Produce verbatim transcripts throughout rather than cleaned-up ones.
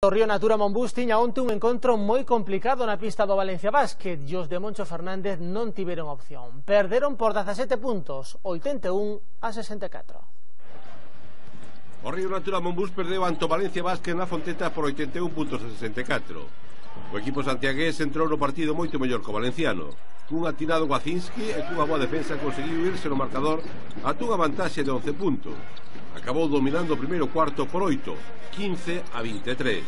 O Río Natura Monbús tiña onte un encontro moi complicado na pista do Valencia Basket e os de Moncho Fernández non tiveron opción. Perderon por dezasete puntos, oitenta e un a sesenta e catro. O Río Natura Monbús perdeu ante o Valencia Basket na Fonteta por oitenta e un puntos a sesenta e catro. O equipo santiagués entrou no partido moito mellor que o valenciano. Cun atinado Guacinski e cunha boa defensa conseguiu irse no marcador a unha vantaxe de once puntos. Acabou dominando o primeiro cuarto por oito, quince a vinte e tres.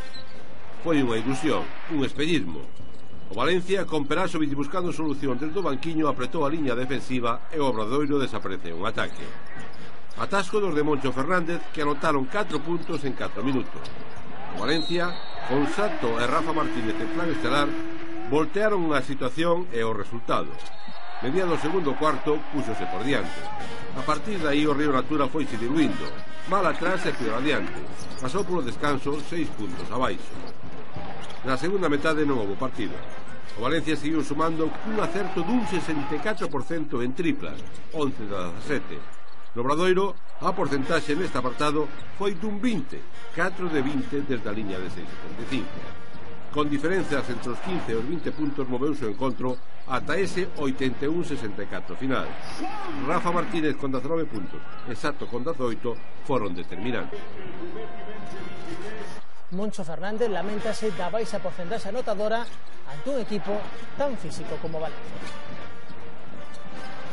Foi unha ilusión, un espellismo. O Valencia, con Peraso buscando solución desde o banquiño, apretou a liña defensiva e o Obradoiro desapareceu un ataque. Atasco dos de Moncho Fernández, que anotaron catro puntos en catro minutos. O Valencia, con Sato e Rafa Martínez en plan estelar, voltearon unha situación e o resultado. Mediado o segundo cuarto, púxose por diante. A partir de aí o Río Natura foise diluindo, mal atrás e peor adiante. Pasou polo descanso seis puntos abaixo. Na segunda metade non houve partido. O Valencia seguiu sumando cun acerto dun sesenta e catro por cento en triplas, once de dezasete. No Obradoiro, a porcentaxe neste apartado foi dun vinte, catro de vinte desde a liña de seis setenta e cinco. Con diferenzas entre os quince e os vinte puntos moveuse o encontro ata ese oitenta e un a sesenta e catro final. Rafa Martínez con dezanove puntos e Sato con dezaoito foron determinantes. Moncho Fernández lamentase da baixa porcentaxe anotadora ante un equipo tan físico como Valencia.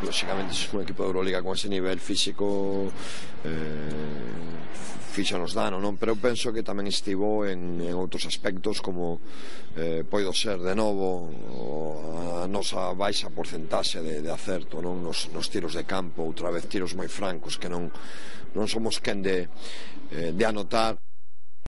Lóxicamente, se un equipo de Euroliga con ese nivel físico eh, fíxanos dano, non? Pero eu penso que tamén estivo en, en outros aspectos, como eh, poido ser de novo a nosa baixa porcentaxe de, de acerto, non? Nos, nos tiros de campo, outra vez tiros moi francos que non, non somos quen de, eh, de anotar.